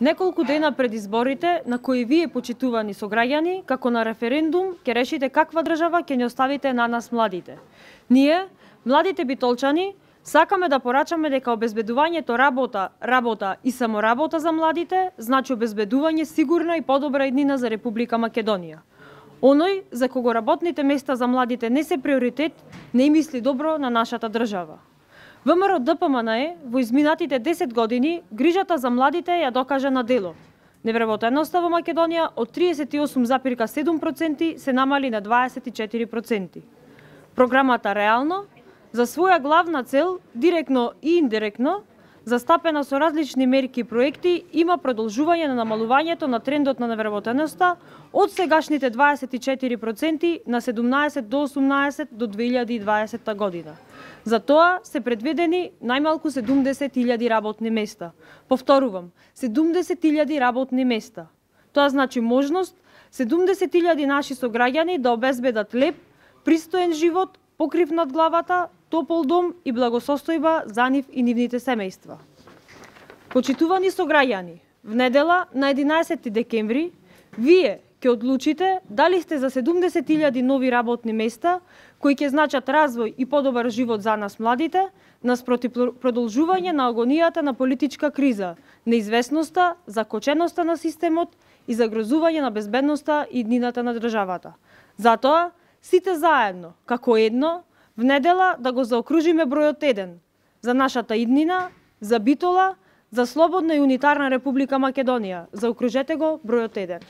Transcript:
Неколку дена пред изборите, на кои вие, почитувани сограѓани, како на референдум, ќе решите каква држава ќе ни оставите на нас младите. Ние, младите битолчани, сакаме да порачаме дека обезбедувањето работа и само работа за младите значи обезбедување сигурна и подобра иднина за Република Македонија. Оној за кого работните места за младите не се приоритет, не мисли добро на нашата држава. ВМРО-ДПМНЕ во изминатите 10 години грижата за младите ја докажа на дело. Невработеноста во Македонија од 38,7% се намали на 24%. Програмата реално, за своја главна цел, директно и индиректно, застапена со различни мерки и проекти, има продолжување на намалувањето на трендот на невработеноста од сегашните 24% на 17 до 18 до 2020 година. За тоа се предвидени најмалку 70.000 работни места. Повторувам, 70.000 работни места. Тоа значи можност 70.000 наши сограѓани да обезбедат леп, пристоен живот, покрив над главата, топол дом и благосостојба за нив и нивните семејства. Почитувани сограѓани, в недела на 11 декември, вие ќе одлучите дали сте за 70.000 нови работни места кои ќе значат развој и подобар живот за нас младите, наспроти продолжување на агонијата на политичка криза, неизвестноста, закоченоста на системот и загрозување на безбедноста и иднината на државата. Затоа, сите заедно, како едно, в недела да го заокружиме бројот 1 за нашата иднина, за Битола, за слободна и унитарна Република Македонија. Заокружете го бројот 1.